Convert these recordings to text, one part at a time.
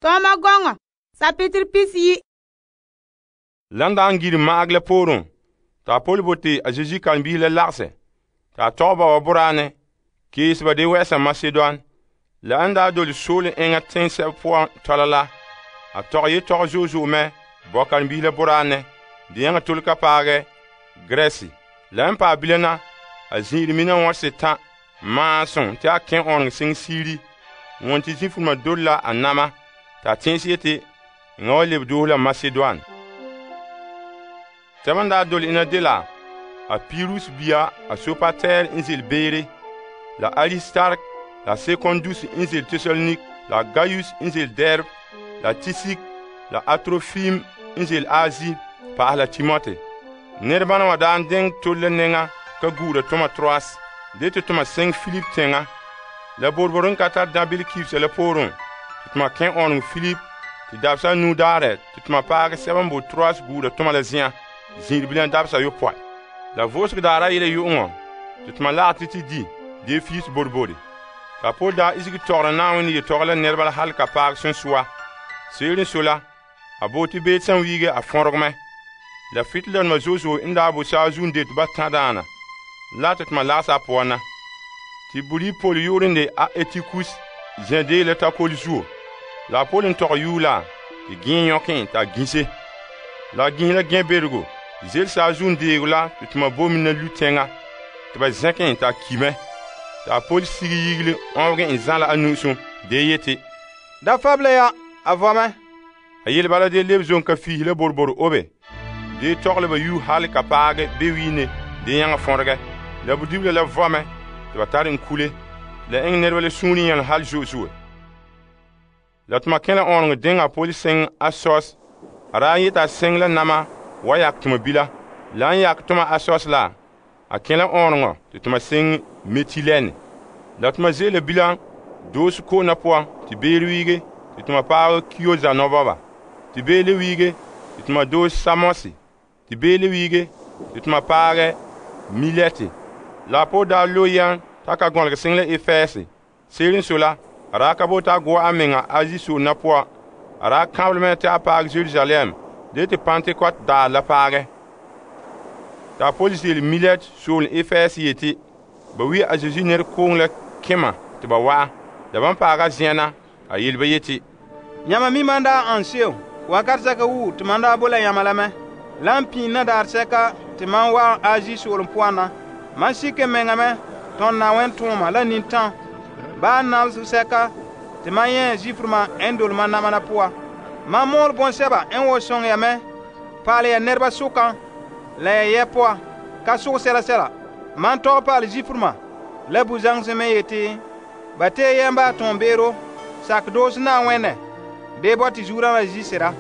Tɔɔma gɔŋɔ sapitiri pisiyi. Lan daan giri ma'agɛ la pooren, ta a pole bote a Zesu karen-biisi la lagahɛ, ta tɔgɛ ba wa boraanɛ, keese ba de wɛ'ɛsa Masedon. La an daa dole soolom enŋa teŋsɛba poan tɔla la, a tɔgɛ yetɔgɔ zo'e zo'e mɛ bɔ karen-biisi la boraanɛ, de nyaŋa tole ka paagɛ Gresɛ. La n paɛ bilam na, a zin'ire mina wɔn setan maasum te a kɛn ɔnregɛ seŋ siiri, wɔn te zifuruma dole la a nama, ta tɛn'ɛse yete enŋa wa lebe doohe la Masedon. Tɛba n daa dole ena dela a Pirus bia a Sopatɛr n ze'ele beere, la Aristark, la Sekondus n ze'ele Tesalonik, la Gaius n ze'ele Derb, la Tisik, la Atrofim n ze'ele Azi, pa'ahɛ la Timote. Nɛrebana wa daan deŋɛ tole la nɛŋa ka gu'ura toma Troas, de te toma seŋ Filip teŋa. La boroboro n ka tare dabeele kibisa la pooren, te toma kɛn ɔnregɛ Filip, te dabesa nu daarɛ te toma paagɛ sɛba n bo Troas gu'ura toma la zen'an, zin'ire bilam dabesa yopɔe. La vo'osegɔ daarɛ yele yu'uŋɔ, te toma lagɛ te di, de fiis bodibodi. Ka Paul daa isege tɔgɔra Na'ayenɛ yetɔgɔ la nɛreba la hal ka paagɛ sonsoa. Se'ere n so la, a bote beet san wiige a fɔnregɛ mɛ. La fitilanma zo'e zo'e n daa bo saazuo n dete ba tãdaana, la te toma lagesa a poan na. Te borii Paul yu'urɛ n de a Etikus zɛn dee la takole zuo. La a Paul n tɔgɛ yuu la, te gɛɛ yɔkɛ t'a gise. La a gise la gɛɛ berego, ze'ele saazuo n deego la te toma bo mina lu tɛŋa, te ba zɛkɛ t'a ki mɛ. Ta a Paul sige yigile ɔnbegɛ en zãla a nu'usum, dee yete, da fabla ya, a vɔ mɛ. A yele bala de lebe zon ka fiisi la boroboro obe, dee tɔgɛ la ba yuu hal ka paagɛ bewiine dee nyaŋa fɔnregɛ. La bodibila la vɔ mɛ, te ba tare en kule, la eŋɛ nɛreba la suunre yɛlɛ hal zo'e zo'e. La toma kẽ la ɔnregɛ deŋa a Paul seŋ Asos. A daa yeta a seŋ la nama wa yak toma bila. La n yak toma Asos la, a kẽ la ɔnregɔ te toma seŋ Metilɛne. La toma ze'ele la bilam doose ko'ona poan te beere wiige te toma paagɛ Kioza nɔbɔba. Te beele wiige te toma doose Samosi. Te beele wiige te toma paagɛ Milɛte. La a Paul daa lo yɛn t'a ka gɔnlegɛ seŋ la Efɛɛse. Se'ere n so la, a daa ka bote a go'a a meŋa Azi soona poan. A daa kãbelɛ mɛ te a paagɛ Jerusalem, de te Pentekɔt daar la paagɛ. Ta a Paul ze'ele Milɛte soolem Efɛɛse yete, ba wi a Zesu nɛrekooŋ la kema te ba wa'a. La ban paagɛ a zen'an na, a yele ba yete, Yãma mi man daa an se'em, wakat sɛka wuu te man daa bo la yãma la mɛ. La n piin na daar sɛka te man wa Azi soolem poan na. Man sike meŋa mɛ tõnd Na'ayenɛ tʋʋma la nintã. Baa nabesɛ sɛka te man yẽ zifuruma n dole man nama na poa. Man mɔɔl bõn-sɛba n wa sõŋ ya mɛ, paal ya nɛreba sʋkã, la ya yɛ poa, ka sʋg sɛla sɛla. Man tɔgɛ paal zifuruma, la bu-zaŋsẽ me yeti, ba tee yɛmba tõon beero, sak doos Na'ayenɛ, dee bɔ te zuurã la zi-sera.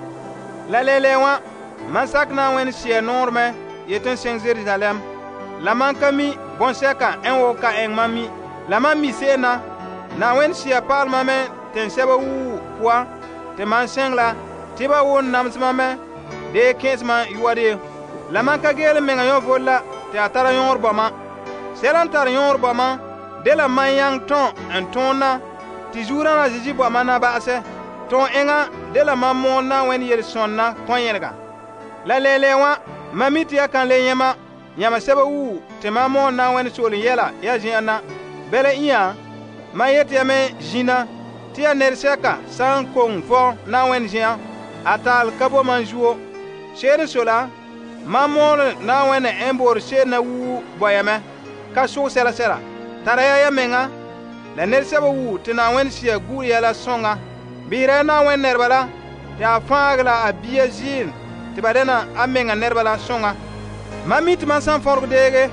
La lele wã, man sak Na'ayenɛ sɛɛ noor mɛ yetɩ n seŋ Jerusalem. La man ka mi bõn-sɛka n wo ka ɛŋ man mi. La man mi se'em na, Na'ayenɛ sɛɛ paalema mɛ tẽn-sɛba wuu poa, te man sẽng la, tɩ ba wʋʋn namsema mɛ, dee kẽesema yʋa de. La man ka geele meŋa yõvol la, tɩ a tara yõor bɔma. Sɛla n tara yõor bɔma, de la man yãng tõn n tõon na, tɩ zuurã la Zeezi bɔma na ba'asɛ. Tõon eŋa de la man mool Na'ayenɛ yel-sõnna kõ-yẽlega. La lele wã, man mi tɩ ya kan le yẽma, yãma sɛba wuu tɩ man mool Na'ayenɛ soolem yɛla ya zen'an na. Bɛla ĩa, man yetɩ ya me zĩna, tɩ ya nɛresɛka sã n kong vɔ Na'ayenɛ zen'an, a taal ka bo man zuo. Se'ere n so la, man mool Na'ayenɛ n boor se'em na wuu bɔyame, ka sʋg sɛla sɛla. Tara ya meŋa, la nɛresɛba wuu tɩ Na'ayenɛ sia gu'ur ya la sõŋa. Bɩɩra ya Na'ayenɛ nɛreba la, tɩ a fãagɛ la a bia ziim tɩ ba dɛna a meŋa nɛreba la sõŋa. Man mi tɩ man sãn fõrg deege,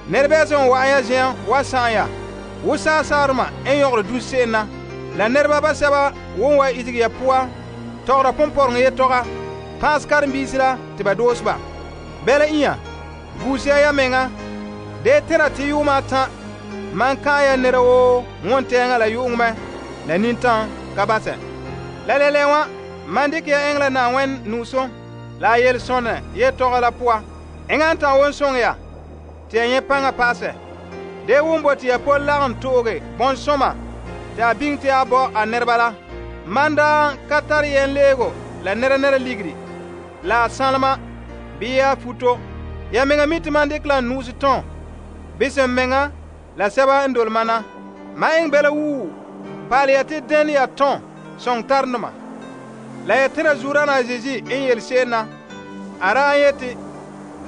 nɛrebɛɛsẽ n wa'an ya zen'an wa sãn ya, wo saasaarema n yõgre dus se'em na. La nɛreba basɛba won wa itigi ya poa, tɔgra pʋmpɔrengẽ yetɔga, pãas karen-biisi la tɩ ba doos ba. Bɛla ĩa, buus ya meŋa, dee tẽra tɩ yʋʋma a tã, man kãa ya nera woo wõn-tɛɛngã la yʋ'ʋŋ mɛ, la nintã ka basɛ. La lele wã, man dɩk ya eŋɛ la Na'ayenɛ nu'usum, la a yel-sõnɛ yetɔga la poa. Eŋa n tã won sõŋ ya, tɩ ya yẽ pãngã paasɛ. Dee wʋn bo tɩ ya Paul lagem to'oge bõn-sõma tɩ a biŋ tɩ a bɔ a nɛreba la. Man daa ka tare yɛnleego la nɛra ligiri la sanlema bii ya futo. Ya mɛŋa mi te man dekɛ la nu'usi tɔn bisem mɛŋa la sɛba n dole mana. Ma eŋɛ bɛla wuu paale ya te dene ya tɔn soŋtarenema. La ya tɛnra Zuodaana Zeezi n yele se'em na. A daa yeti,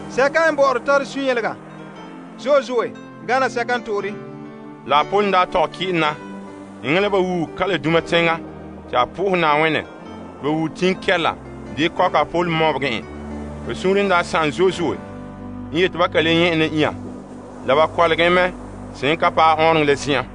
sɛka n bɔ'ɔra tare sunyelega zo'e gana sɛka n to'ore. La a pon daa tɔgɛ kɩ'ɛn na eŋɛ la ba wuu kala duma teŋa tɩ a po'ohɛ Na'ayenɛ. Ba wuu tiŋkɛla dee kɔka a pol mɔbegɛ en. Ba suunre daa sa'am zo'e n yeti ba ka le nyɛ' en la inya. La ba kɔlegɛ mɛ se'em ka paɛ ɔɔnrɔŋɔ la zi'an.